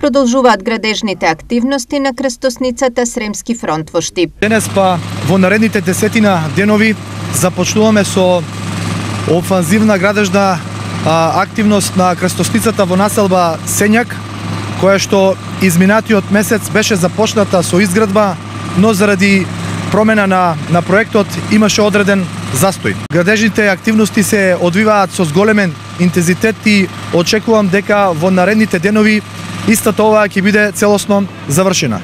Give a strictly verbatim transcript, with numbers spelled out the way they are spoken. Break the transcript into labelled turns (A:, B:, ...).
A: продолжуваат градежните активности на крстосницата Сремски фронт во Штип.
B: Денес па во наредните десетина денови започнуваме со офанзивна градежна а, активност на крстосницата во населба Сењак, која што изминатиот месец беше започната со изградба, но заради промена на, на проектот имаше одреден застој. Градежните активности се одвиваат со зголемен интензитет и очекувам дека во наредните денови истата оваа ќе биде целосно завршена.